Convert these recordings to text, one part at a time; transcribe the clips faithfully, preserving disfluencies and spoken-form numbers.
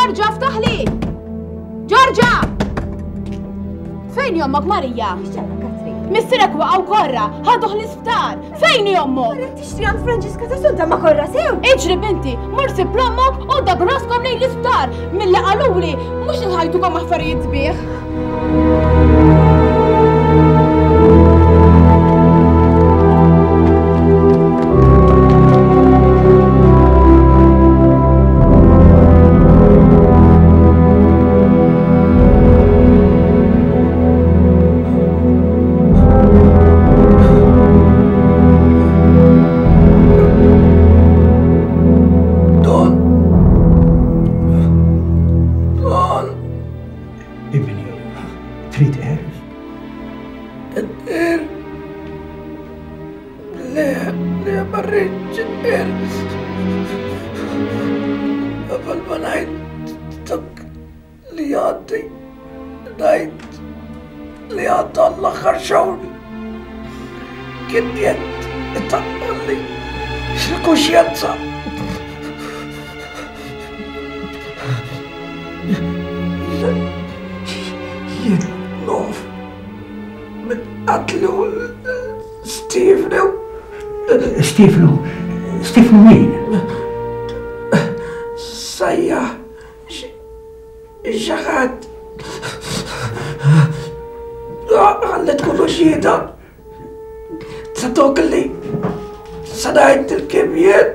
Ġorġa, ftaħli! Ġorġa! Fejn jommok, Marija? Missierek waqgħu korra, ħaduh l-isptar. Fejn jommok? Marret tixtri għand Franġiska ta' Sunta ma korra sew. Iġri binti, mur sib l-ommok u dabraskom lejn l-isptar. Milli qaluli, mhux nħajtukom affarijiet sbieħ. Stefnu, Stefnu min? Sajja, xaħat. Għalli tkunu xhieda. Sa tokli, sa ngħid il-kimijiet.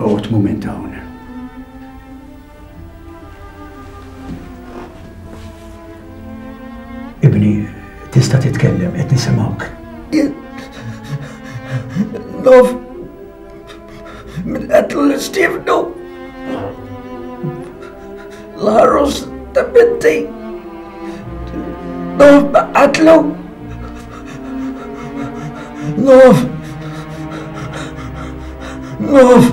Għot moment hawn. Ibni, tista' titkellem, qed nisimgħuk. Nof minn qatlu l Stefnu. L-ħarus ta' binti. Nof ma qatlu. Nof. Nof.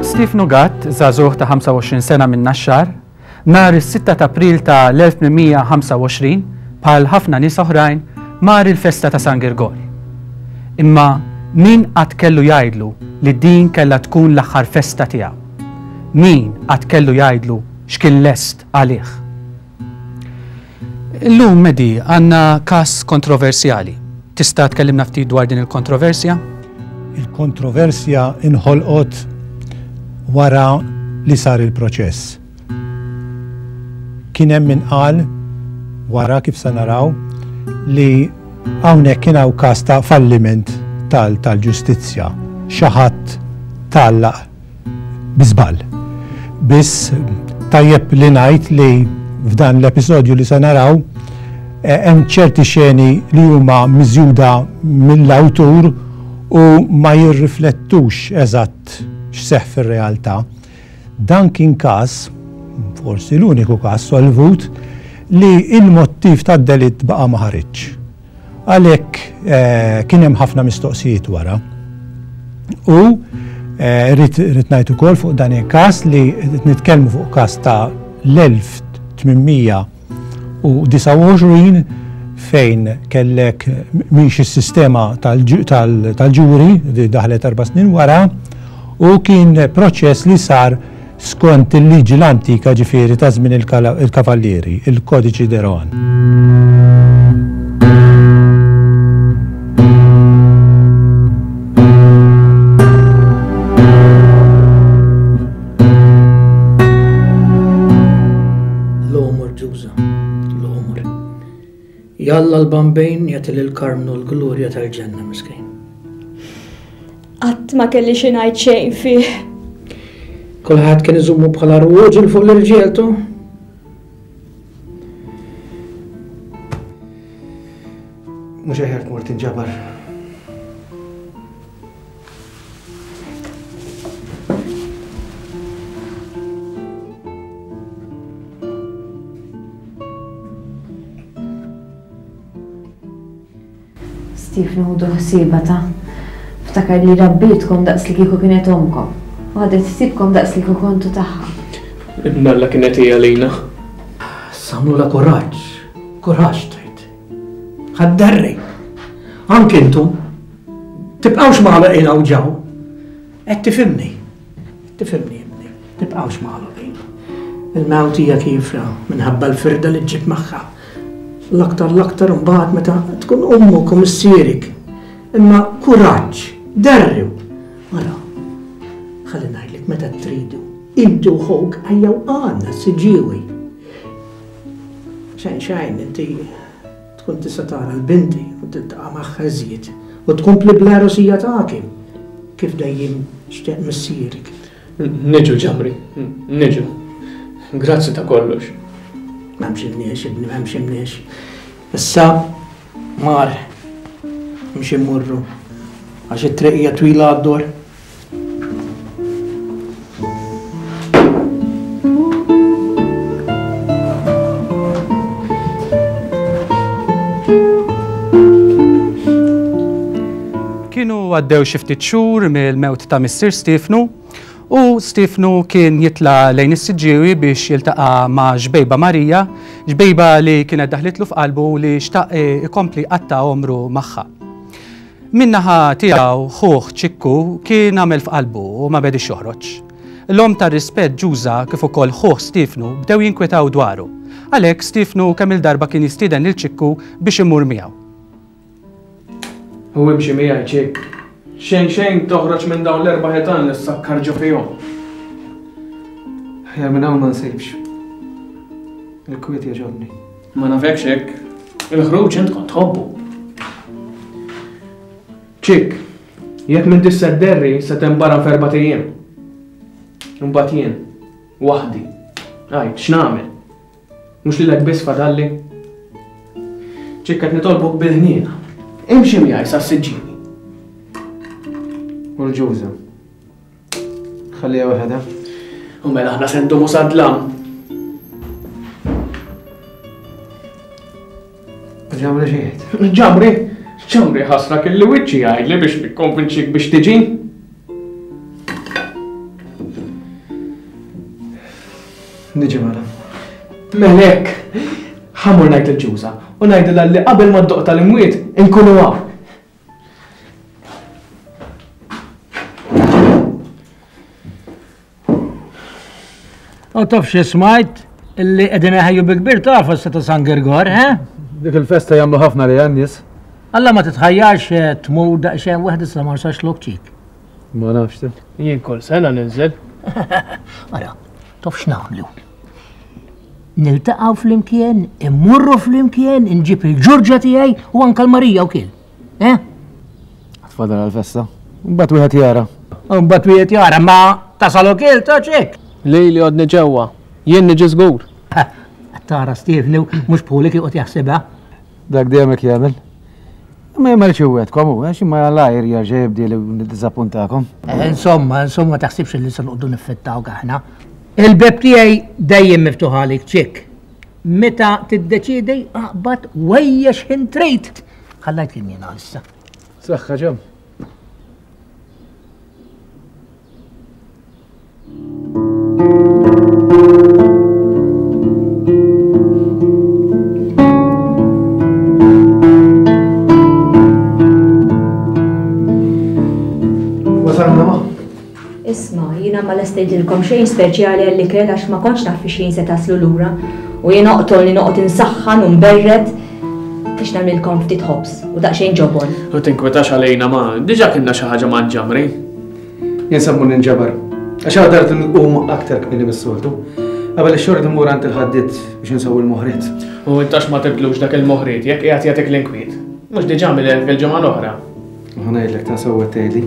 Stefnu Gatt, żagħżugħ ta' ħamsa u għoxrin sena minn Naxxar, nhar is-sitta ta' April ta' l-elf tmien mija ħamsa u għoxrin, bħal ħafna nies oħrajn, mar il-festa ta' San Girgor. Imma min qatt kellu jgħidlu li din kellha tkun l-aħħar festa tiegħu? Min qatt kellu jgħidlu x'kien lest għalih? Illum, Medi, għandna każ kontroversjali. Tista' tkellimna ftit dwar din il-kontroversja? Il-kontroversja inħolqot wara li sar il-proċess. Kien hemm min qal wara kif se naraw li hawnhekk kien hawn każ ta' falliment tal-ġustizzja. Xi ħadd tgħallaq bi żball. Biss tajjeb li ngħid li f'dan l-episodju li se naraw hemm ċerti xeni li huma miżjuda mill-awtur u ma jirriflettux eżatt x'seħħ fir-realtà. Dan kien każ, forsi l-uniku każ solvut, li il-mottiv tad-delitt baqa' ma ħariġx. Għalhekk kien hemm ħafna mistoqsijiet wara. U rrid ngħid ukoll fuq dan il-każ li nitkellmu fuq każ ta' l-elf tmien mija u disgħa u għoxrin fejn kellek mhix is-sistema tal-ġuri li daħlet erba' snin wara, u kien proċess li sar skont il-liġi l-antika ġifieri ta' żmien il-kavallieri, il-Kodiċi de Rohan. L-għomor l-ġuża, l-għomor. Jalla l-bambejn jagħti lil Karmnu l-glorja tal-ġenna miskin. Qatt ma kelli xi ngħid xejn fih. Kulħadd kien iżommu bħala rwoġel fuq l-irġiel tu. Mhux aħjar tmur tinġabar. Stefnu ħudu ħsieba ta' ftakar li rabbitkom daqs li kieku kienet omkom u ħadet ħsiebkom daqs li kieku kontu tagħha. Imnalla kienet hija lejna. Samlu la kuraġġ, kuraġġ tgħid. Ħaddarri. Anke intom tibqgħux magħluqin hawn ġew. Qed tifhimni. Tifhimni ibni. Tibqgħux magħluqin. Il-mewt hija kiefra minħabba l-firda li ġġib magħha. L-aktar l-aktar mbagħad meta tkun ommok u missierek. Imma kuraġġ, derriw. Ara, ħalli ngħidlek meta tridu. Inti u ħuk ejjew għandna siġġiewi. Xejn xejn inti tkun tista' tara l-binti u tiltaqa' magħha iżjed u tkompli bl-għerusija tagħek kif dejjem xtieq missierek. Niġu ġamri, niġu. Grazzi ta' kollox. M'hemmx imniex, ibni, m'hemmx imniex. Issa, mar, mxi mmorru, għax it-triq hija twila għad-dor. Kienu għaddew xi ftit xhur mill-mewt ta' missier Stefnu u Stefnu kien jitla' lejn is-Siġġiewi biex jiltaqa' ma' ġbejba Marija, ġbejba li kienet daħlitlu f'qalbu li xtaq ikompli qatta' għomru magħha. Min-naħa tiegħu ħuh Ċikku kien għamel f'qalbu u ma bedix joħroġ. L-om tar-rispett Ġuża kif ukoll ħuh Stefnu bdew jinkwetaw dwaru. Għalhekk Stefnu kemm il-darba kien jistieden lil Ċikku biex imur miegħu. U imxi miegħi Ċikk. Xejn xejn toħroġ minn dawn l-erba' ħitan li ssakkar ġo fihom. Aħjar minn hawn ma nsibx. Il-kwiet jogħġobni. Ma nafekx hekk. Il-ħruġ int kont tħobbu. Ċikk, jekk m'intix se dderri se tembaram f'erbat ijiem. Imbagħad jien, waħdi. Għid, x'nagħmel? Mhux lilek biss fadalli. Ċikk qed nitolbok bil-ħniena. Imxi miegħi sas-Siġġiewi. U l-ġuża. Ħalliha waħedha. U mela aħna se ndumu sad-dlam. Ġamri xejn. Ġamri? Ġamri ħasra kelli wiċċi jgħidli biex nikkonvinċik biex tiġi. Niġi mela. Mela hekk, ħa mmur ngħid il-ġuża u ngħidilha li qabel ma ddoq tal-imwiet inkunu hawn. U taf xi smajt illi qegħdin iħejju bi kbir ta' festa ta' San Girgor, he? Dik il-festa jagħmlu ħafna li għan-nies. Alla ma titħajjarx tmur daqsxejn waħda sa ma rsax lok ċik. Ma nafx te. Jien kull sena ninżel. Ara, taf x'nagħmlu? Niltaqgħu flimkien, immurru flimkien, inġib il-ġurġa tiegħi u anke l-Marija wkoll. Eh? Tfadal għall-festa. Mbagħad wieħed jara. Mbagħad wieħed jara, ma tasal ukoll ta' ċek. Lili għodni ġewwa, jien niġi żgur. Tara Stefnu mhux bħulik joqgħod jaħsibha. Dak dejjem hekk jagħmel. Ma jagħmelx iwedkom hu, għax imma l-ajr jerġa' jibdi li niddiżappuntakom. Insomma, insomma taħsibx li se noqogħdu niffittawk aħna. Il-beb tiegħi dejjem miftuħ għalik ċikk. Meta tiddeċiedi aqbad wejja x'ħin trid. Ħallajt lil jiena issa. Saħħa ġemm. Wasalna ma? Isma, jiena ma lestejtilkom xejn speċjali għall-ikel għax ma kontx naf fi xejn se taslu lura u jien oqtol li noqgħod insaħħan u nberred biex nagħmlilkom ftit ħobż u daqsxejn ġobon. U tinkwetax għalejna ma, diġà kienna xi ħaġa ma' ġamri. Jien se mmur ninġabar. Għax għadart nqum aktar kmieni mis-soltu. Qabel ix-xogħol immur għand il-ħaddied biex insewwi l-moħriet. U intax ma tibdlux dak il-moħriet jekk qiegħed jagħtik l-inkwiet. Mhux diġà għamilek il-ġimgħa l-oħra. Ħa ngħidlek ta' sewwa tgħidli.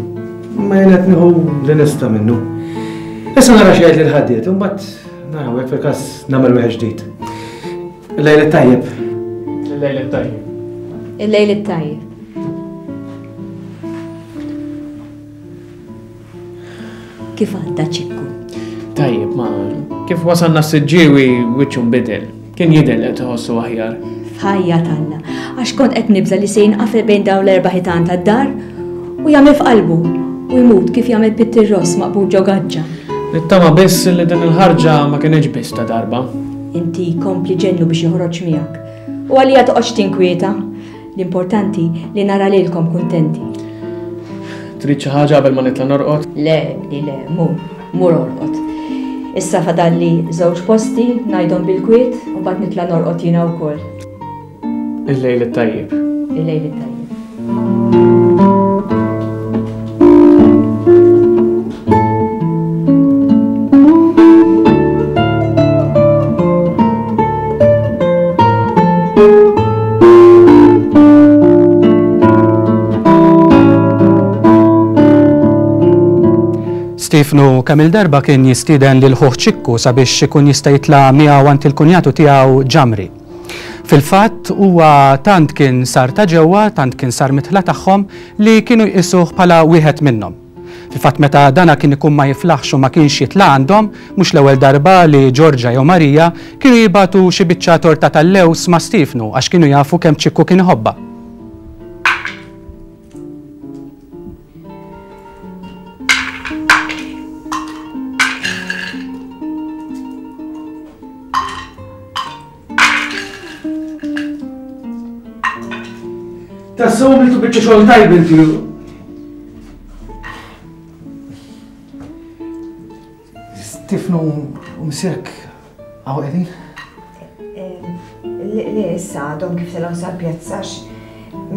Ma jien qed nieħu li nista' minnu. Issa nara xi jgħid l-ħaddied u mbagħad naraw jekk fil-każ nagħmel wieħed ġdid. Il-lejl it-tajjeb. Il-lejl it-tajjeb. Il-lejl it-tajjeb. Kif għadda Ċikku? Tajjeb, ma kif wasalna s-Siġġiewi wiċċu nbidel. Kien jidher li qed iħossu aħjar. F'ħajja t'Alla, għax kont qed nibża' li se jinqafel bejn dawn l-erba' ħitan tad-dar u jagħmel f'qalbu u jmut kif jagħmel pittirross maqbud ġo gaġġa. Nittama biss li din il-ħarġa ma kienx biss ta' darba. Inti kompli ġennu biex joħroġ miegħek. U għalija toqgħodx tinkwieta. L-importanti li nara lilkom kuntenti. Trid xi ħaġa qabel ma nitla' norqod? Le, li le, mur, mur orqod. Issa fadalli żewġ posti ngħidhom bil-kwiet u mbagħad nitla' norqod jiena wkoll. Il-lejl it-tajjeb. Il-lejl it-tajjeb. Stefnu kemm il-darba kien jistieden lil ħuh Ċikku sabiex ikun jista' jitla' miegħu għand il-kunjatu tiegħu Ġamri. Fil-fatt huwa tant kien sar ta' ġewwa, tant kien sar mitħla tagħhom li kienu jqisuh bħala wieħed minnhom. Fil-fatt meta dana kien ikun ma jiflaħx u ma kienx jitla' għandhom, mhux l-ewwel darba li Ġorġa jew Marija kienu jibatu xi biċċa torta tal-lews ma' Stefnu għax kienu jafu kemm Ċikku kien iħobbha. Tassew għamiltu biċċa xogħol tajb inti. Stefnu u missierek hawn qegħdin? Le, issa għadhom kif telgħu sal-pjazza għax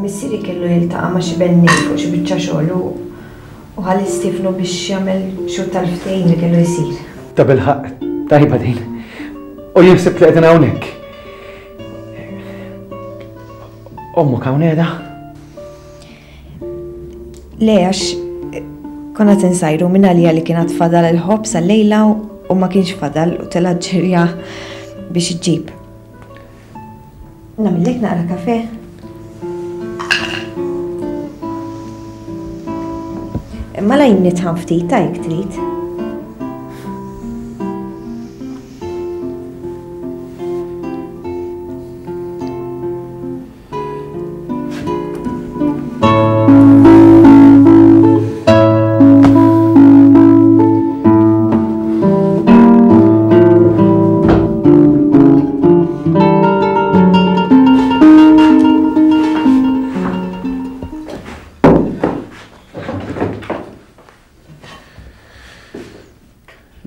missieri kellu jiltaqa' ma' xi bennej fuq xi biċċa xogħol u ħalli Stefnu biex jagħmel xhur tal-ftehim li kellu jsir. Ta' bilħaqq, tajba din. U jien ħsibt li qegħdin hawnhekk. Ommok hawn qiegħda? Le, għax konna tinsajru minn għalija li kienet fadal il-ħobż għal-lejla u ma kienx fadal u telgħet ġirja biex iġġib. Nagħmillek naqra kafe? Mela jien nitħan ftit ta' jekk trid.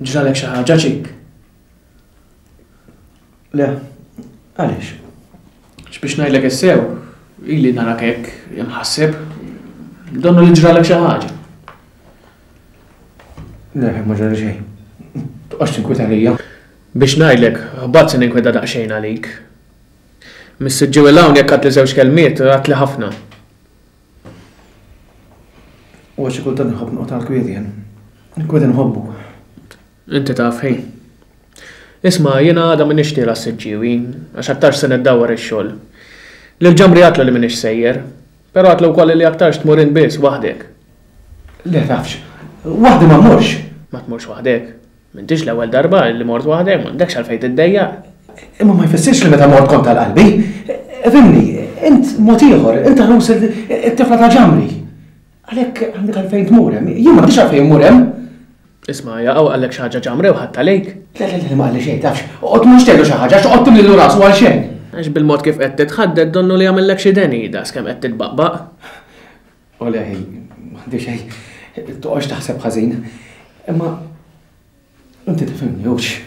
Ġralek xi ħaġa Ċik? Le, għaliex? X'biex ngħidlek issew, ili narak hekk imħasseb, donnu li ġralek xi ħaġa. Le, ma ġrali xejn. Toqgħodx tinkwita għalija. Biex ngħidlek, ħbatt se ninkwita daqsxejn għalik. Mis-Siġġiewi 'l hawn jekk għadtli żewġ kelmiet, għadtli ħafna. U għax xi kultant inħobb noqgħod għall-kwiet jien. Il-kwiet inħobbu. Inti taf ħin. Isma', jiena għada m'iniex tiela' s-Siġġiewi, għax aktarx se niddawwar ix-xogħol. Lil Ġamri għatlu li m'iniex sejjer, però għatlu wkoll li aktarx tmur int biss waħdek. Le tafx, waħdi ma mmurx. Ma tmurx waħdek. M'intix l-ewwel darba li mort waħdek, m'għandekx għalfejn tiddejjaq. Imma ma jfissirx li meta mort kont tal-qalbi. Fimni, int mod ieħor, int ħrus it-tifla ta' Ġamri. Għalhekk għandek għalfejn tmur hemm, jien m'għandix għalfejn mmur hemm. Isma', jaqgħu qallek xi ħaġa Ġamri u ħadd għalejk. Le, le, le, ma qalli xejn, tafx. Oqgħod mhux tgħidlu xi ħaġa, x'oqgħod timlilu rasu għal xejn. Għax bil-mod kif qed titħadded donnu li jagħmellek xi deni daqs kemm qed titbaqbaq. O le, m'għandi xejn. Toqgħodx taħseb ħażin. Imma inti tifhimni hux.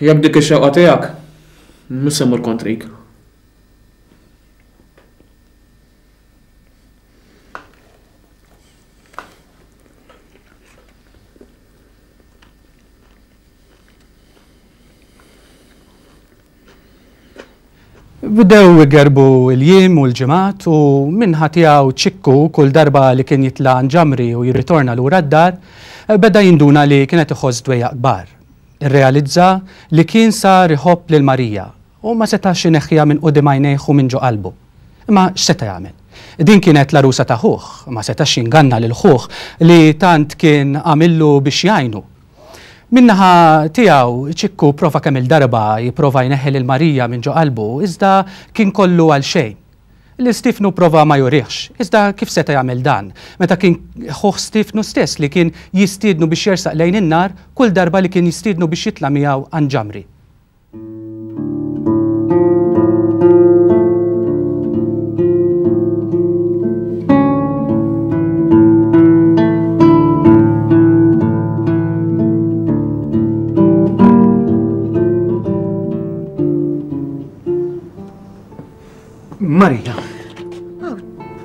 Jekk dik ix-xewqa tiegħek, mhux se mmur kontrik. Bdew igerbu l-jiem u l-ġimgħat u minħa tiegħu Ċikku kull darba li kien jitla' ġamri u jirritorna lura d-dar, beda jinduna li kienet iħoss dwejjaq kbar. Irrealizza li kien sar iħobb lil Marija u ma setax ineħħiha minn quddiem għajnejh u minn ġo qalbu. Imma x'seta' jagħmel? Din kienet l-għarusa ta' ħuh, ma setax jinganna lil ħuh li tant kien għamillu biex jgħinu. Min-naħa tiegħu Ċikku prova kemm il-darba jipprova jneħħi lil Marija minn ġo qalbu, iżda kien kollu għal xejn. Li Stifnu prova ma jurihx, iżda kif seta' jagħmel dan? Meta kien ħuh Stifnu stess li kien jistiednu biex jersaq lejn in-nar kull darba li kien jistiednu biex jitla' miegħu għand ġamri. Marija. Aw,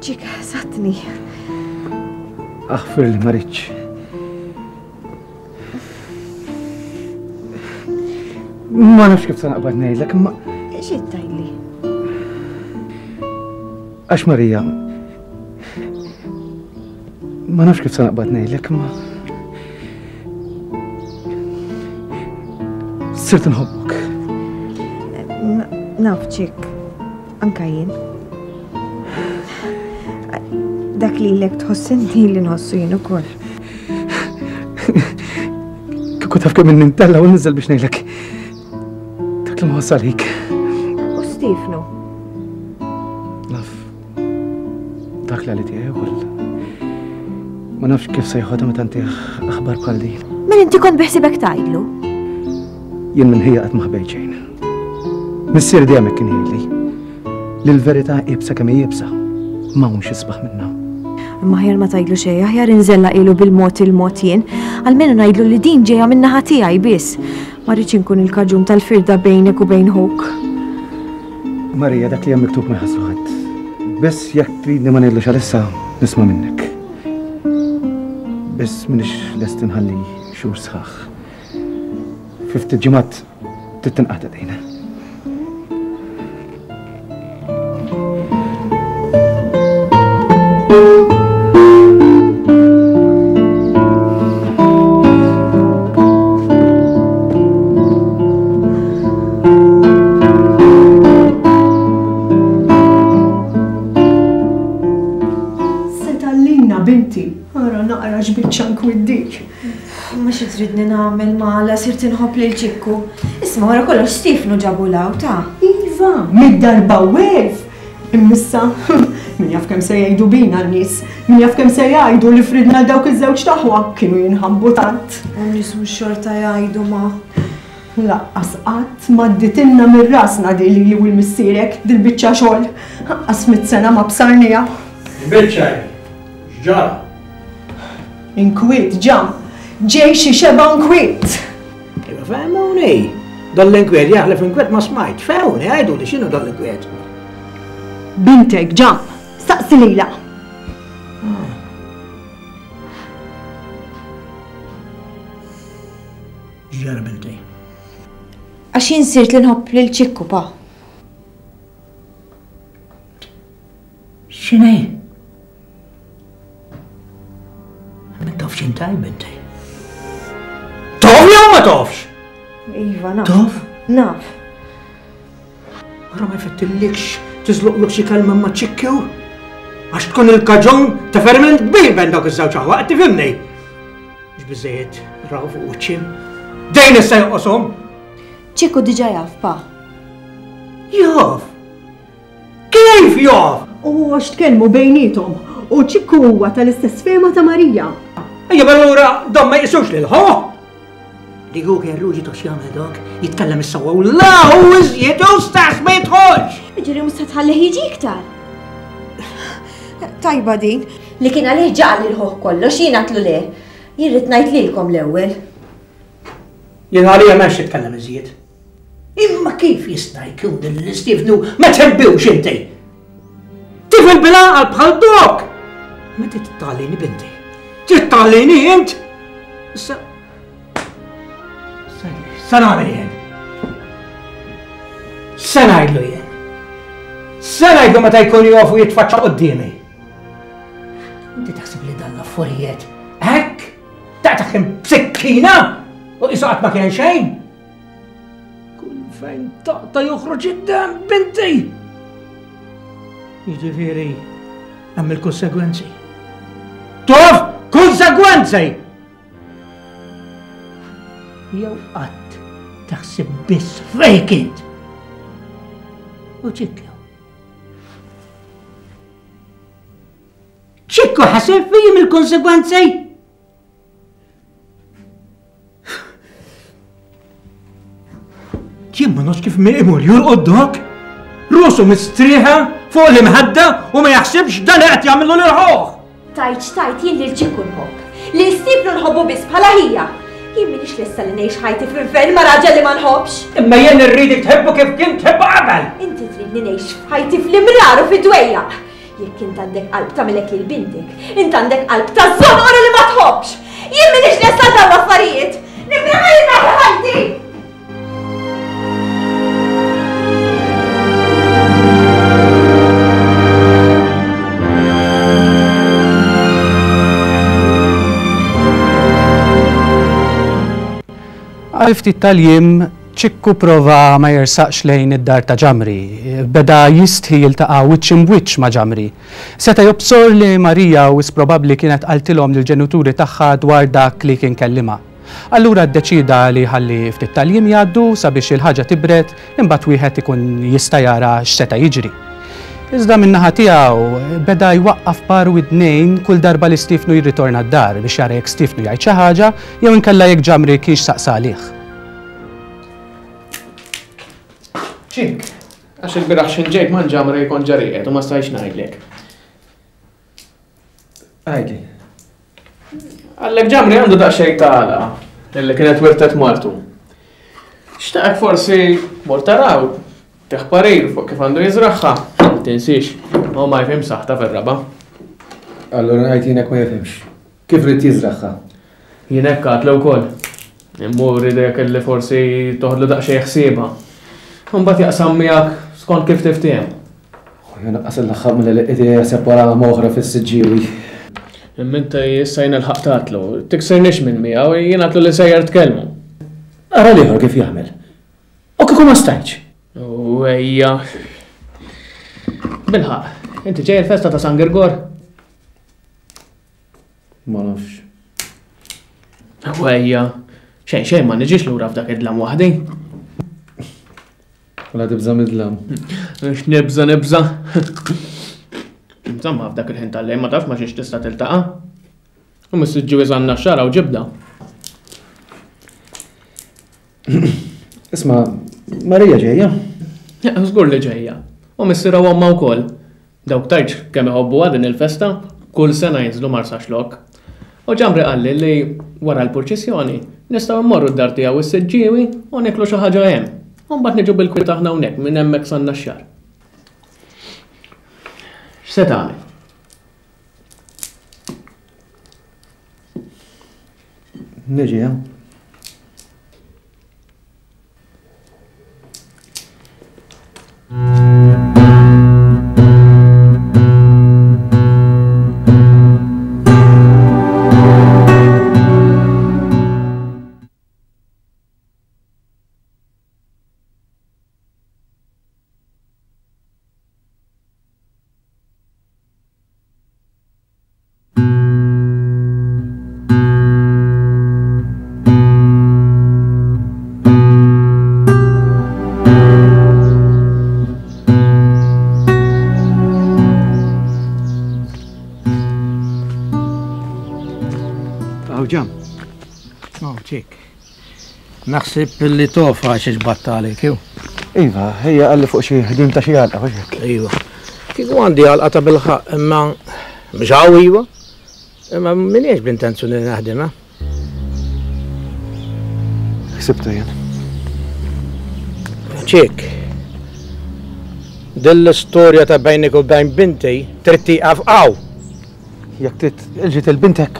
ċik, satni. Aħfir li ma rridx. Ma nafx kif se naqbad ngħidlek, imma. Xi tgħidli? Għax Marija. Ma nafx kif se naqbad ngħidlek, imma. Sirt nħobbok. Naf ċik. Anka jien. Dak li lek tħoss inti li nħossu jien ukoll. Kieku taf kemm nintella u ninżel biex ngħidlek. Dak li nħoss għalik. U Stifnu? Naf. Dak li għali tiegħi ukoll. Ma nafx kif se jħodha meta ntih aħbar bħal din. Mela inti kont beħsibek tgħidlu? Jien minn ħija qatt ma ħbejt xejn. Missier dejjem hekk kien jgħidli. Li l-verità iebsa kemm hi iebsa, ma hawnx isbaħ minnha. Imma aħjar ma tgħidlu xejn, aħjar inżella ilu bil-mod il-mod jien, almenu ngħidlu li din ġejja min-naħa tiegħi biss. Ma rridx inkun il-kaġun tal-firda bejnek u bejn ħuk. Marija, dak li hemm miktub ma jħassu ħadd. Biss jekk tridni ma ngħidlux għalissa, nisma' minnek. Biss m'iniex lest inħalli xhur sħaħ. Fi ftit ġimgħat trid tinqata' dejna. Ma xi tridni nagħmel mala sirt inħobb lil Ċikku. Isma' wara kollox Stifnu ġabu law ta' Iva, mid-darba wef. Immissa, min jaf kemm se jgħidu bina n-nies, min jaf kemm se jgħidu li fridna dawk iż-żewġ taħwa kienu jinħabbu tant. U n-nies mhux xorta jgħidu ma. Laqqas qatt ma dditilna minn rasna di lili u l-missierek dil-biċċa xogħol. Laqqas mit sena ma bsarnija. Biċċa x'ġara? Inkwiet ġam. Ġej xi xeba nkwiet. Iva fehmuni. Dan l-inkwiet jaħlef inkwiet ma smajt. Fehmuni, għidu li x'inhu dan l-inkwiet. Bintek ġam, staqsi lilha. X'ġara binti? Għax jien sirt li nħobb lil Ċikku pa. X'inhi? Ma tafx intaj binti. Tof jew ma tofx? Iva, naf. Tof? Naf. Ara ma jfettillikx tiżluqlok xi kelma ma' Ċikku? Għax tkun il-kaġun ta' ferment kbir bejn dawk iż-żewġ aħwa, qed tifhimni? Mhux biżejjed raw fuq wiċċhom. Dejn issa jonqoshom. Ċikku diġà jaf, pa. Jaf? Kif jaf? U għax tkellmu bejniethom u Ċikku huwa tal-istess fehma ta' Marija. Ejja, allura dan ma jqisux lil ħuh. Li hu kellu jitox jagħmel dok, jitkellem is-sewwa u la hu iżjed u stess ma jidħolx. Jiġifieri mhux se tħallih jiġi iktar. Tajba din. Li kien għalih ġaqal lil ħuh kollox, jien għatlu le. Jien rrid ngħid lilkom l-ewwel. Jien għalija m'hemmx titkellem iżjed. Imma kif jista' jkun li Stifnu ma tħebbux inti? Tifel bil-għaqal bħal dok! Ma tittalini binti. Tittalini int? Issa. Sa nagħmel jien. Sa ngħidlu jien. X'se ngħidu meta jkun jofu jitfaċċa quddiemi? Inti taħseb li dan l-affarijiet hekk? Taqtagħhom b'sikkina u qisu qatt ma kien xejn? Kull fejn taqta' joħroġ id-demm binti! Jiġifieri hemm il-konsegwenzi. Tof konsegwenzi! Jew qatt taħseb biss fejk int. U Ċikku. Ċikku ħaseb fijim il-konsegwenzi? Jien ma nafx kif imur jurqod dok. Rusu mistrieħa fuq l-imħadda u ma jaħsibx dan qed jagħmlu lil ħuh. Tajt x'tajt jien lil Ċikku nħobb. Lil Stiefnu nħobbu biss bħala ħija. Jien m'iniex lesta li ngħix ħajti fl-infern ma' raġel li ma nħobbx. Imma jien irridek tħibbu kif kien tħibbu qabel. Inti tridni ngħix f'ħajti fl-imrar u fid-dwejjaq. Jekk int għandek qalb tagħmilek lil bintek, int għandek qalb ta' żonqor li ma tħobbx. Jien m'iniex lesta għal dawn l-affarijiet. Nippreferi nagħti ħajti. Għal ftit tal-jiem, Ċikku prova ma jersaqx lejn id-dar ta' Ġamri. Beda jistħi jiltaqa' wiċċ imbwiċċ ma' Ġamri. Seta' jobsor li Marija wis probabbli kienet qaltilhom lill-ġenituri tagħha dwar dak li kien kellimha. Allura ddeċida li ħalli ftit tal-jiem jgħaddu sabiex il-ħaġa tibred, imbagħad wieħed ikun jista' jara x'seta' jiġri. Iżda min-naħa tiegħu beda jwaqqaf par widnejn kull darba li Stiefnu jirritorna d-dar biex jara jekk Stiefnu jgħid xi ħaġa jew inkella jekk Ġamri kienx saqsa għalih. Ċikk, għax il-bieraħ x'in ġejt ma' Ġamri kont ġarijiet u ma stajtx ngħidlek. Għidli. Għallek Ġamri għandu daqsxejn ta' għala illi kienet wirtet martu. Xtaqek forsi mor taraw, teħ parir fuq kif għandu jiżraħħa. Tinsiex, u ma jfhem saħta fir-raba. Allura ngħid jien hekk ma jifhimx. Kif rid jiżraħħa? Jien hekk għatlu wkoll. Immur idek illi forsi toħodlu daqsxejn ħsiebha. Mbagħad jaqsam miegħek skont kif tiftiehem. Ħu naqqas il-laħħaq mill-li jaħseb wara oħra fis-Siġġiewi. Imma inti issa jien il-ħaq tatlu, tiksirnix minn miegħu, jien għatlu li sejjer tkellmu. Ara l-ieħor kif jagħmel. U kieku ma stajtx. U ejja. Bilħaq, inti ġej il-festa ta' San Girgor? Ma nafx. U ejja, xejn xejn ma niġix lura f'dak id-dlam waħdi. Wala tibża' mid-dlam. X'nibża' nibża'. Insomma, f'dak il-ħin tal-lejl ma tafx ma xiex tista' tiltaqa'. U mis-Siġġiewi żanna x-xara u ġibda. Isma', Marija ġejja? Żgur li ġejja. U missierha u ommha wkoll. Dawk tgħidx kemm iħobbuha din il-festa, kull sena jinżlu Marsaxlokk. U Ġamri qalli li wara l-purċissjoni nistgħu mmorru d-dar tiegħu is-Siġġiewi u nieklu xi ħaġa hemm. U mbagħad niġu bil-kwiet aħna hawnhekk minn hemmhekk sa Naxxar. X'se tagħmel? Niġi, eh? Naħseb li tofa xiex battalik, jew? Iva, hija qalli fuq xi ħdim ta' xi għalqa, mhux hekk? Iva. Kieku għandi għalqa ta' bilħaq, imma mhux hawn iva. Imma m'iniex bl-intenzjoni li naħdimha. Ħsibta jien. Ċik. Din l-istorja ta' bejnek u bejn binti trid tieqaf hawn. Jekk trid ilġiet il-bintek,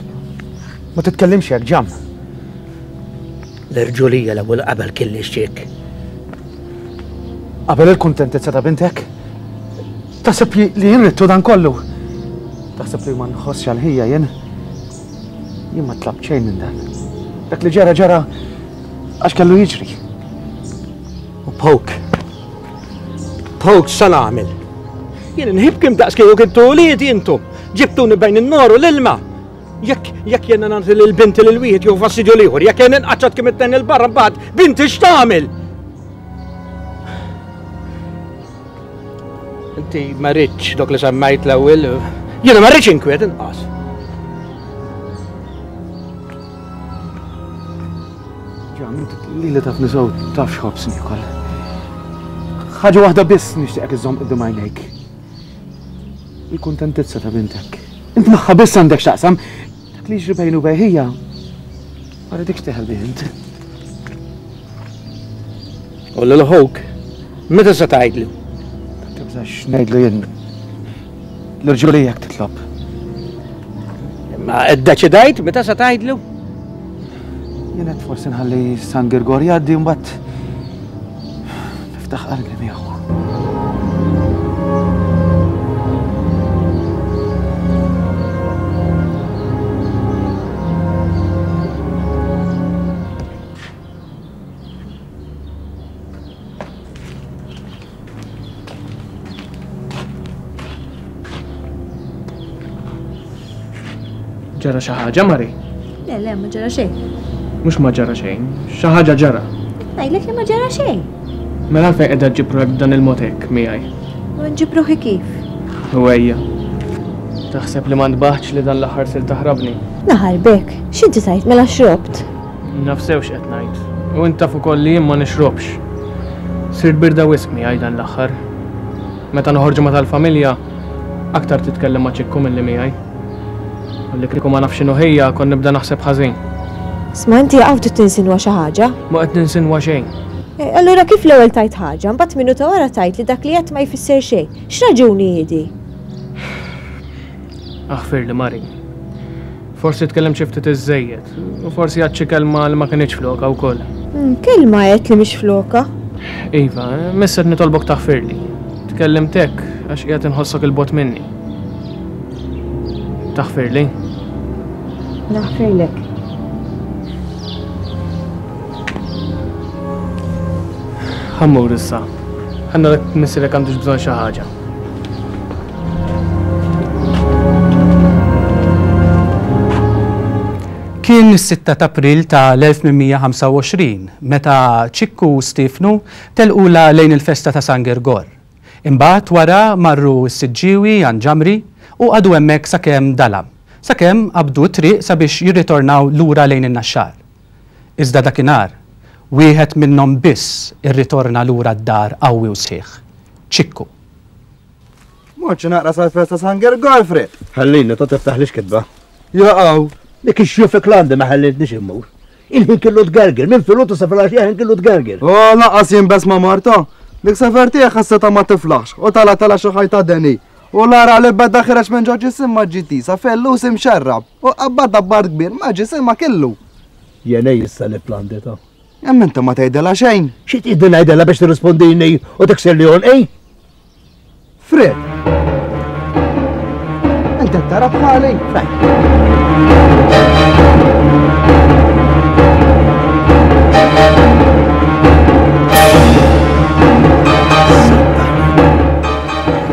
ma titkellimx hekk ġam. L-irġulija l-ewwel qabel kelli x'ċek. Qabel il-kuntentizza ta' bintek? Taħseb li jien ridtu dan kollu? Taħseb li ma nħossx għal ħija jien? Jien ma tlabt xejn minn dan. Dak li ġara ġara għax kellu jiġri. U Poke. Poke x'sa nagħmel? Jien inħibkim daqs kieku kintu uliedi intom. Ġibtuni bejn in-nar u l-ilma. Jekk jekk jiena nagħti lil binti lil wieħed jew fastidju l-ieħor, jekk jien inqaċċat kemm it-tnejn il barra mbagħad binti x'tagħmel? Inti ma rridx dok li semmejt l-ewwel. Jiena ma rridx inkwiet inqas. Ġam, inti lili taf nisew taf x'ħobs niekol. Ħaġa waħda biss nixtieqek iżżomm quddiem għajnejk. Il-kuntentizza ta' bintek. Int magħha biss għandek x'taqsam. Dak li jiġri bejnu bejn ħija, ma rridekx teħel bih int. U lil ħuk, meta se tgħidlu? Tibżax ngħidlu jien. L-irġulija jekk titlob. Imma iddeċidajt meta se tgħidlu? Jien qed forsi nħalli San Girgor jgħaddi mbagħad niftaħ qalbi miegħu. Ġara xi ħaġa, Mari? Le, le, ma ġara xejn. Mhux ma ġara xejn, xi ħaġa ġara. Ngħidlek li ma ġara xejn. Mela għalfejn qiegħda ġġib ruħek b'dan il-mod hekk miegħi? U nġib ruħi kif? U ejja. Taħseb li ma ntbaħtx li dan l-aħħar sir taħrabni? Naħarbek, x'inti tajt mela xrobt? Naf sew x'qed ngħid. U int taf ukoll li jien ma nixrobx. Sirt birda wisq miegħi dan l-aħħar. Meta noħorġu ma' tal-familja, aktar titkellem ma' Ċikku milli miegħi. U li kieku ma nafx x'inhu ħija, kont nibda naħseb ħażin. Sma' inti hawn trid tinsinwa xi ħaġa? Ma qed ninsinwa xejn. E, allura kif l-ewwel tajt ħaġa, mbagħad minuta wara tajt li dak li qed ma jfisser xejn. X'raġuni hi di? Aħfirli, Mari. Forsi tkellimt xi ftit iżżejjed, u forsi għad xi kelma li ma kinitx floka wkoll. Mm, kelma għedt li mhix floka. Iva, miss qed nitolbok taħfirli. Tkellimt hekk għax qiegħed inħossok il-bogħod minni. Taħfirli? Naħfirlek. Ħammur issa. Ħanna lek missierek għandux bżonn xi ħaġa. Kien is-sitta ta' April ta' l-elf tmien mija ħamsa u għoxrin meta Ċikku u Stiefnu telqula lejn il-festa ta' San Girgor. Imbagħad wara marru s-Siġġiewi għand Ġamri u qagħdu hemmhekk sakemm dalam, sakemm qabdu t-triq sabiex jirritornaw lura lejn in-Naxxar. Iżda dakinhar, wieħed minnhom biss irritorna lura d-dar qawwi u sħiħ. Ċikku. Morċi naqra sal-festa San Girgor, Fred. Ħallini, ta' tiftaħlix kitba. Jaqgħu. Dik ix-xufik l-għandi ma ħallitniex immur. Il-ħin kellu tgerger, minn filgħodu sa filgħaxija ħin kellu tgerger. Oh, laqas jien bes ma' Marta. Dik safertija ħasseta ma tiflaħx u tala tala xi ħajta deni. U l-ara li beda ħireġ minn ġo ġisim ma ġiti, sa fellus imxerrab u qabbad dabbar kbir ma ġisim ma kellu. Jenej issa li plandita. Hemm inti ma tgħidilha xejn. Xi tgħidli ngħidilha biex tirrispondini u tiksir li għonqi? Fred! Inti tara bħali?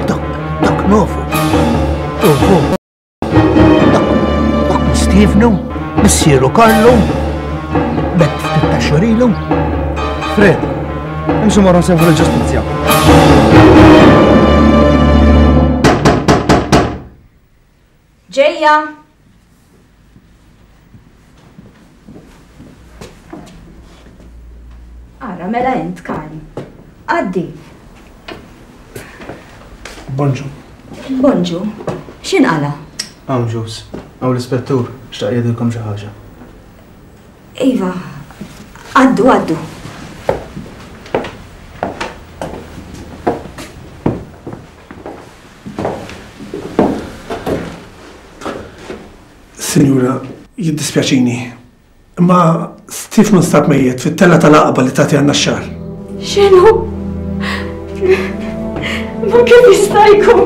Dok, dok nofu. Uhu. Dok, dok Stiefnu, missieru Karlu, bet ftit ta' xorilu. Fred, imxu morru nsejħu l-ġustizzja. Ġejja! Ara, mela int, Karm. Għaddi. Bonġu. Bonġu. X'inqala? Hawn ġus. Hawn l-ispettur, xtaq jgħidilkom xi ħaġa. Iva, għaddu, għaddu. Sinjura, jiddispjaċini, imma Stiefnu nstab mejjet fit-tella tal-aqba li tagħti għan-Naxxar. X'inhu? Ma kif jista' jkun?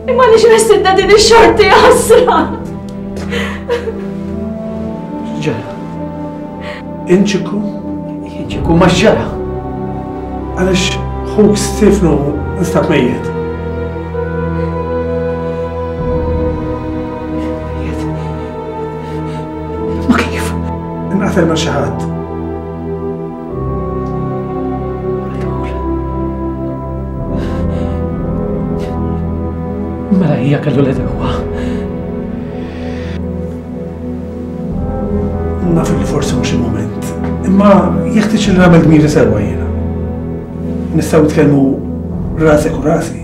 Imma għaliex messidna din ix-xorti ħasra? X'ġara? Inċiku? Inċiku ma x'ġara? Għaliex ħuk Stefnu nstab mejjet. Mejjet? Ma kif? Inqatel ma' xi ħadd. Mela hija kellu l-edewwa. Naf li forsi mhux il-mument, imma jeħtieġ li nagħmel dmiri sewwa jiena. Nistgħu nitkellmu rasek u rasi.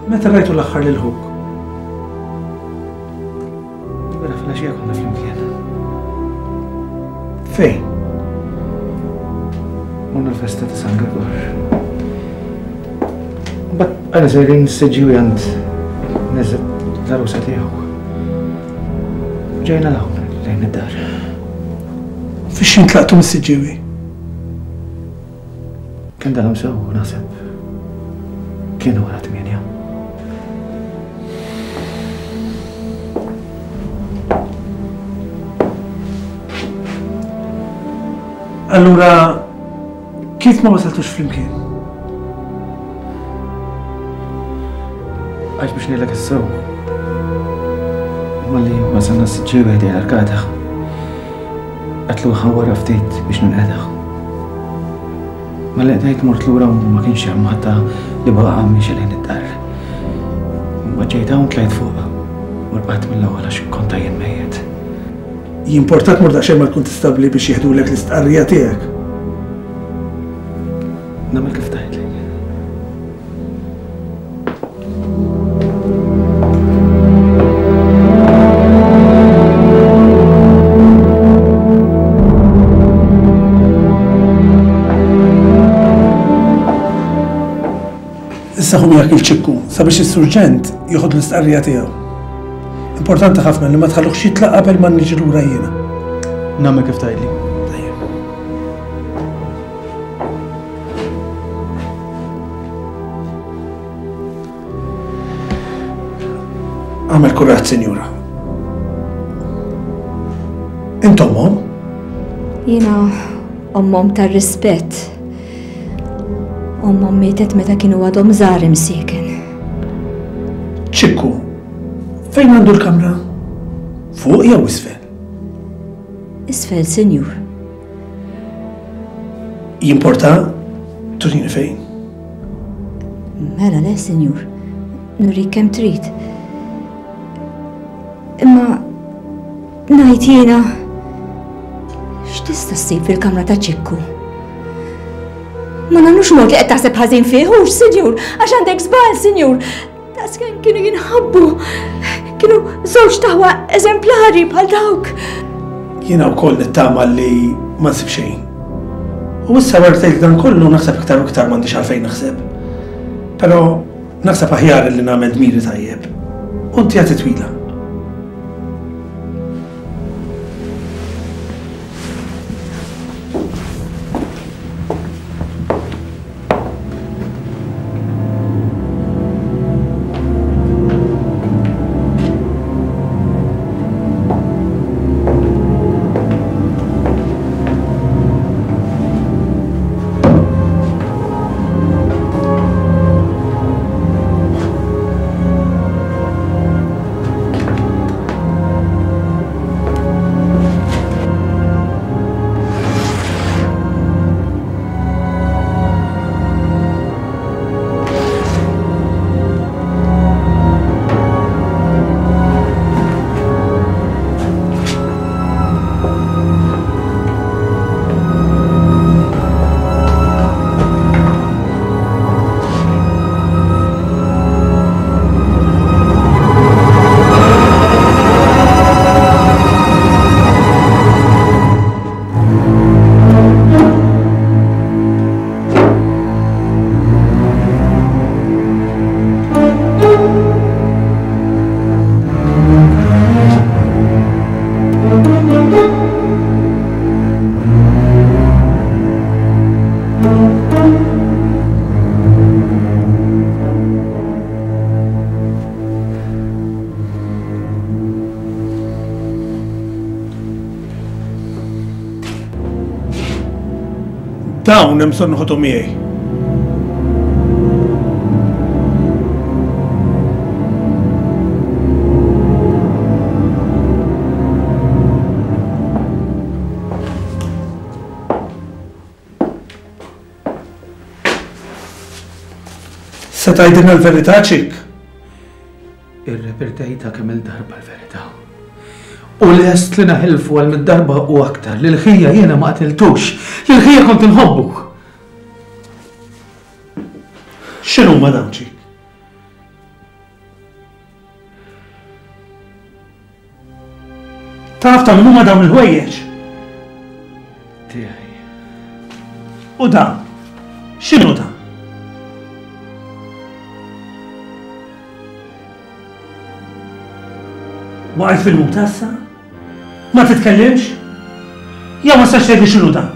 Meta rajtu l-aħħar lil ħuk? Mela filgħaxija konna flimkien. Fejn? Morna l-festa ta' San Gregor. Mbagħad għana sejrin s-siġġiwi għand neżlet l-għarusa tiegħu. Ġejna l-hawn lejn id-dar. Fiex intlaqtu mis-siġġiwi? Kien dalam sew naħseb. Kienu wara tmienja. Allura, kif ma wasaltux flimkien? Għax biex ngħidlek is-sew. Malli wasalna s-siġġiwi ħdejn l-arkata. Qatlu ħawara ftit biex ninqeda. Malli qdejt mort lura u ma kienx hemm ħadd li baqa' miexi lejn id-dar. Ma ġejt hawn tlajt fuq u rqadt mill-ewwel għax kont għajjen mejjet. Jimportat mur daqsxejn mal-kuntistabbli biex jieħdulek l-istqarrija tiegħek. Nagħmel kif tgħidli. Issa hu miegħek il-ċikku sabiex is-surġent jieħod l-istqarrija tiegħu. Importanti ħafna li ma tħalluhx jitlaq qabel ma niġi lura jiena. Nagħmel kif tgħidli. Tajjeb. Għamel kuraġġ, sinjura. Int ommhom? Jiena ommhom tar-rispett. Ommhom mietet meta kienu għadhom żgħar imsieken. Ċikku, fejn għandu l-kamra? Fuq jew isfel? Isfel, sinjur. Jimporta turini fejn? Mela le, sinjur. Nurik kemm trid. Imma ngħid jiena x'tista' ssib fil-kamra ta' Ċikku? Ma nagħmlux mod li qed taħseb ħażin fih, hux, sinjur, għax għandek żball, sinjur. Daqskemm kienu jinħabbu. Kienu żewġ taħwa eżemplari bħal dawk. Jiena wkoll nittama li ma nsib xejn. U issa wara tgħid dan kollu naħseb iktar u iktar m'għandix għalfejn naħseb. Però naħseb aħjar li nagħmel dmiri tajjeb. U inti għad twila. Dawn hemm bżonn noħodhom miegħi. Se tgħidilna l-verità, Ċikk? Irrepetejtha kemm il-darba l-verità. U lest li naħilfu għal mid-darba u aktar li l-ħija jiena ma qatiltux, li l-ħija kont inħobbu. X'inhuma dawn, Ċikk? Taf ta' min huma dawn il-ħwejjeġ? Tiegħi. U dan? X'inhu dan? Waqgħet fil-muta issa? Ma titkellimx? Jew ma sax tgħidli x'inhu dan?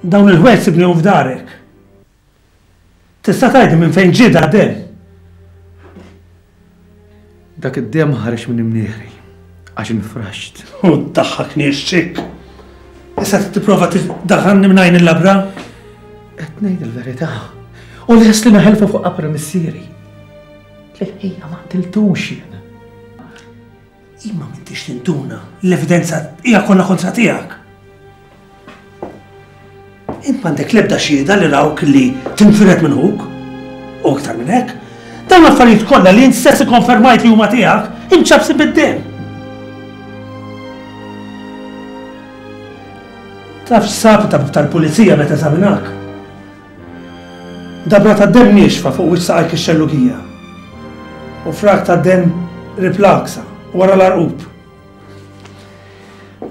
Dawn il-ħwejjeġ sibnihom f'darek. Tista' tgħidli minn fejn ġie dak demm? Dak id-demm ħareġ minn imnieħri għax infraxt. U ddaħħakniex, Ċikk. Issa tipprova tiddaħħalni minn għajn il-labra? Qed ngħid il-verità. U lest li naħelfu fuq qabra missieri. L-ħija ma qtiltux jien. Imma m'intix tinduna, l-evidenza hija kollha kontra tiegħek. Int m'għandek l-ebda xhieda li rawk li tinfired minn ħuk. U iktar minn hekk, dawn l-affarijiet kollha li int stess ikkonfermajt li huma tiegħek, imċabsi bid-demm. Taf x'sab it-tabib tal-pulizija meta eżaminak? Dabra ta' demm niexfa fuq wiċċ saqajk ix-xellugija u frak ta' demm riplaksa wara l-arqub.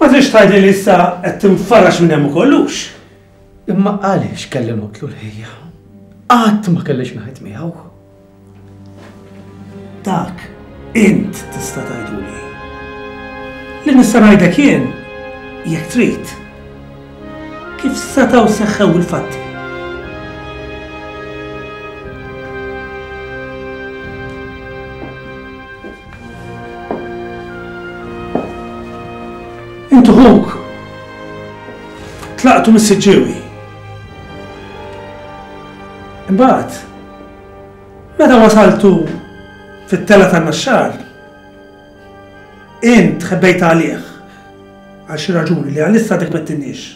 Ma trix tgħidli li issa qed tinfarax minn hemm ukollux. Imma għaliex kelli noqtlu l-ħija? Qatt ma kellix ngħid miegħu. Dak int tista' tgħiduli. Li nista' ngħidlek jien, jekk trid, kif setgħu seħħew il-fatti. Intu ħuk tlaqtu mis-Siġġiewi. Imbagħad, meta wasaltu fit-tela tan-Naxxar, int ħebbejt għalih għal xi raġuni li għalissa dik ma tinniex.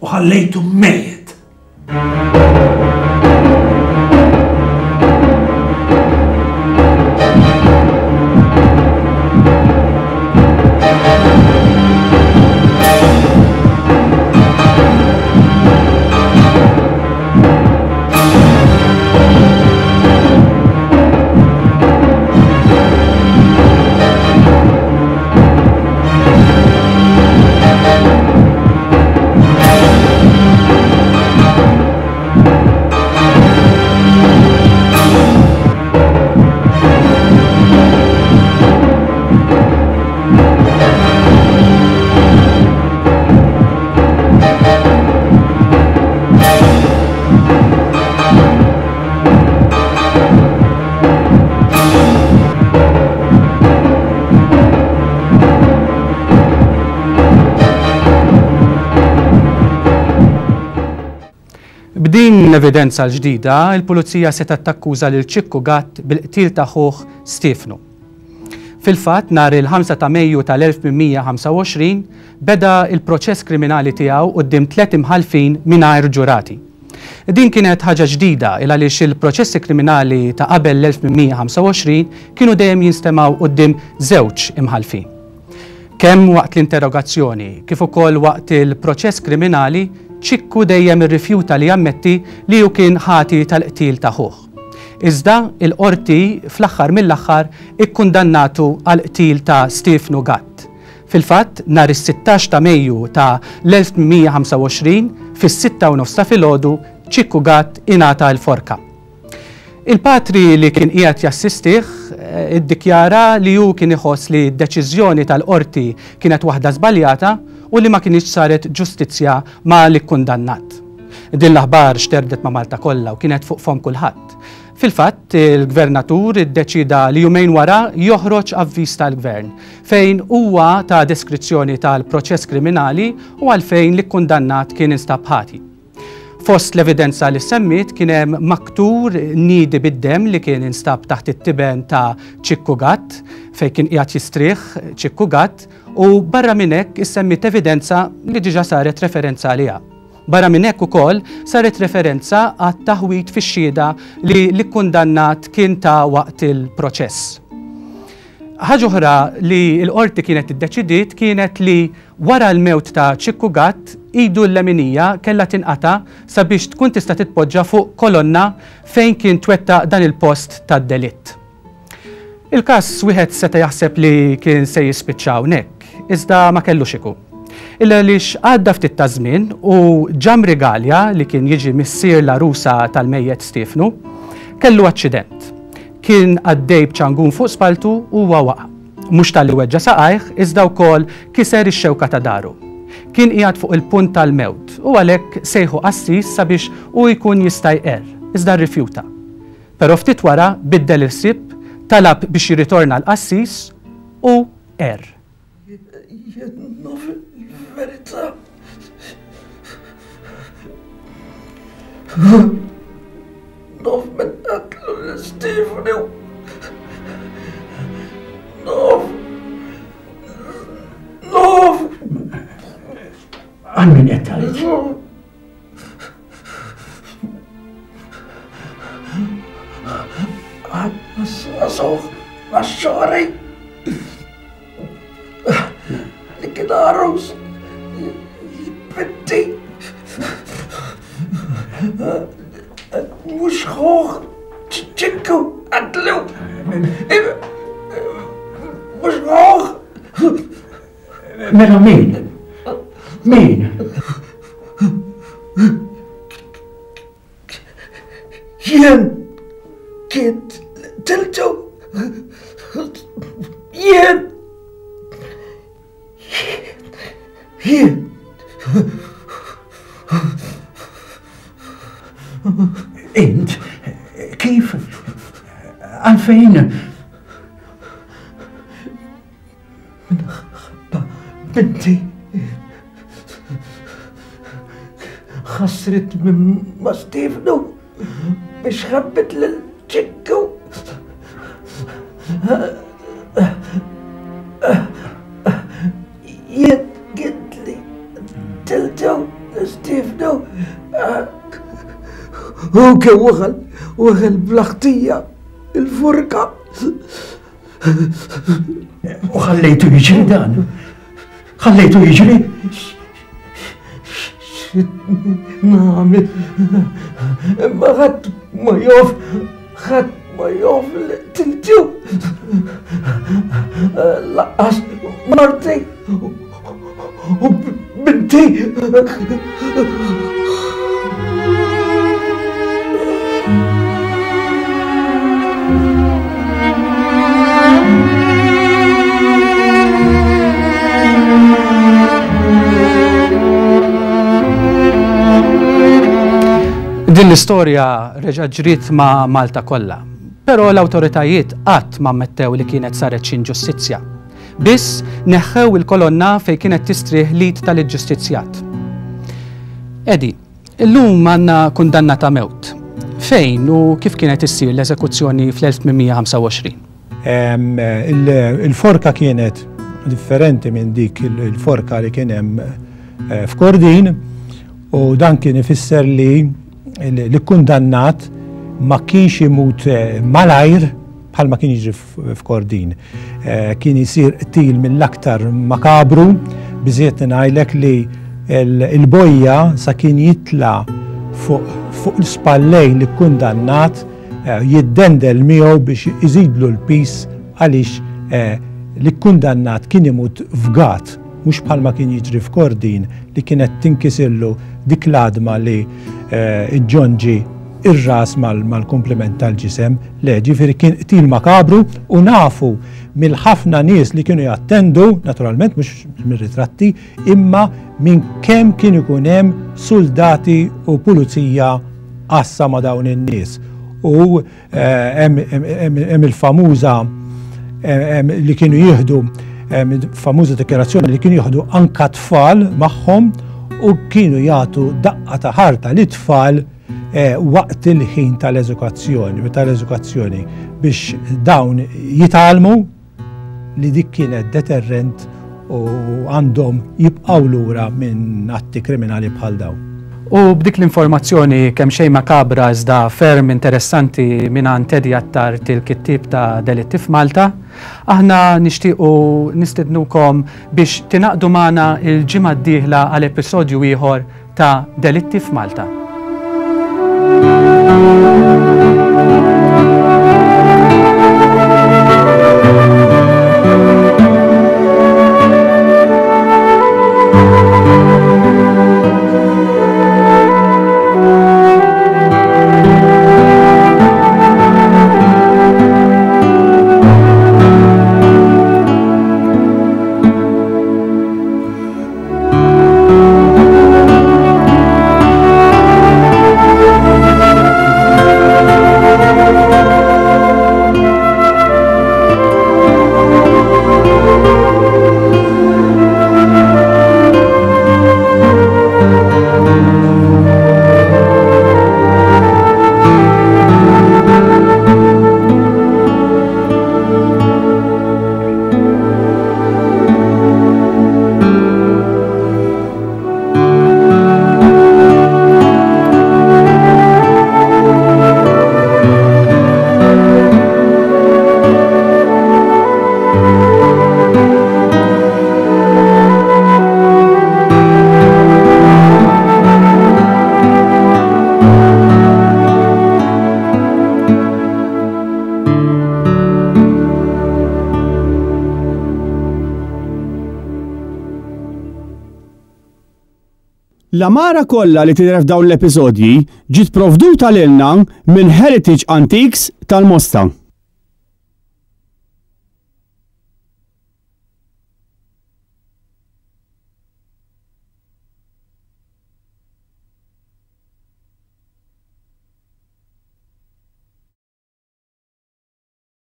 U ħallejtu mejjet. B'din l-evidenza l-ġdida, il-pulizija setgħet takkuża lil Ċikku Gatt bil-qtil ta' ħuh Stiefnu. Fil-fatt, nhar il-ħamsa ta' Mejju tal-elf tmien mija ħamsa u għoxrin beda il-proċess kriminali tiegħu quddiem tliet imħallfin mingħajr ġurati. Din kienet ħaġa ġdida il għaliex il-proċessi kriminali ta' qabel l-elf tmien mija ħamsa u għoxrin kienu dejjem jinstemgħu quddiem żewġ imħallfin. Kemm waqt l-interrogazzjoni kif ukoll waqt il-proċess kriminali, Ċikku dejjem irrifjuta li jammetti li hu kien ħati tal-qtil ta' ħuh. Iżda il-qorti fl-aħħar mill-aħħar ikkundannatu għal qtil ta' Stiefnu Gatt. Fil-fatt, nhar is-sittax ta' Mejju ta' l-elf tmien mija ħamsa u għoxrin, fis-sitta u nofs ta' filgħodu, Ċikku Gatt ingħata l-forka. Il-patri li kien qiegħed jassistih, eh, iddikjara li hu kien iħoss li d-deċiżjoni tal-qorti kienet waħda żbaljata u li ma kienx saret ġustizzja ma' l-ikkundannat. Din l-aħbar xterdet ma' Malta kollha u kienet fuq fom kulħadd. Fil-fatt, il-gvernatur iddeċida li jumejn wara joħroġ avviż tal-gvern fejn huwa ta deskrizzjoni tal-proċess kriminali u għalfejn li kkundannat kien instab ħati. Fost l-evidenza li semmiet kien hemm maktur nidi bid-dem li kien instab taħt it-tiben ta' Ċikku Gatt fejn kien qiegħed jistrieħ Ċikku Gatt u barra minn hekk issemmiet evidenza li diġà saret referenza għaliha. Barra minn hekk ukoll saret referenza għat-taħwit fix-xhieda li l-ikkundannat kien ta' waqt il-proċess. Ħaġa oħra li l-qorti kienet iddeċidiet kienet li wara l-mewt ta' Ċikku Gatt idu l-leminija kellha tinqata' sabiex tkun tista' titpoġġa fuq kolonna fejn kien twettaq dan il-post tad-delitt. Il-każ wieħed seta' jaħseb li kien se jispiċċa hawnhekk, iżda ma kellux ikun. Illa għaliex għadda ftit ta' żmien u Ġamri Galea li kien jiġi missier l-għarusa tal-mejjet Stiefnu kellu aċċident. Kien għaddej b'ċangun fuq spaltu u huwa waqa'. Mhux talli weġġa' saqajh iżda wkoll kiser ix-xewka ta' daru. Kien qiegħed fuq il-punt tal-mewt u għalhekk sejħu qassis sabiex hu jkun jista' jqerr, iżda rrifjuta. Però ftit wara biddel il-ħsieb, talab biex jirritorna l-qassis u qerr. Jien naf il-verità. Naf min qatlu lil Stefani. Naf. Naf. Għal min qed tgħid? Għal għax-xagħri. Li kien għarus binti. Mhux ħuh Ċikku qatlu. Mhux ħuh. Mela min? Min? Jien kien tiltu. Jien. Jien. Int, kif? Għalfejn? Minħabba binti ħasret minn ma' Stefnu biex ħabbet lil Ċikku. Jien kint li tiltu Stefnu. Hu kien waħel, waħel bl-ħtija, il-furka. U ħallejtu jiġri dan? Ħallejtu jiġri? Nagħmel, imma ħadd ma jof, ħadd ma jof li tiltu. Laqqas marti u binti. Din l-istorja reġa' ġriet ma' Malta kollha, però l-awtoritajiet qatt ma ammettew li kienet saret xi inġustizzja. Biss neħħew il-kolonna fejn kienet tistrieħ l-id tal-ġustizzjat. Edi, illum għandna kundanna ta' mewt. Fejn u kif kienet issir l-eżekuzzjoni fl-elf tmien mija ħamsa u għoxrin? Il-forka kienet differenti minn dik il-forka li kien hemm f'Kordin u dan kien ifisser li l-kundannat ma kienx imut malajr bħalma kien jiġri f'Kordin. Kien jisir qtil mill-aktar makabru, biżiet ngħidlek li il-bojja sa kien jitla fuq l-spallejn li kundannat jiddendel miegħu biex iżidlu l-pis għaliex li kundannat kien imut fgat, mhux bħalma kien jiġri f'Kordin li kienet tinkisirlu dik l-għadma li ġġonġi ir-ras mal-komplement tal-ġisem. Le, ġifieri kien qtil makabru u nafu mill-ħafna nies li kienu jattendu, naturalment mhux mir-ritratti, imma minn kemm kien ikun hemm soldati u pulizija għassa ma' dawn in-nies. U hemm il-famuża li kienu jieħdu, famuża dikjarazzjoni li kienu jieħdu anka tfal magħhom u kienu jagħtu daqqa ta' ħarta li tfal waqt il-ħin tal-eżukazzjoni, tal-eżukazzjoni biex dawn jitgħallmu li dik kienet deterrent u għandhom jibqgħu lura minn atti kriminali bħal dawn. U b'dik l-informazzjoni kemm xejn makabra iżda ferm interessanti mingħand Teddy Attard, il-kittieb ta' Delitti f'Malta, aħna nixtiequ nistednukom biex tingħaqdu magħna il-ġimgħa d-dieħla għal episodju ieħor ta' Delitti f'Malta. L-għamara kollha li tidher f'dawn l-episodji ġiet provduta lilna minn Heritage Antiques tal-Mosta.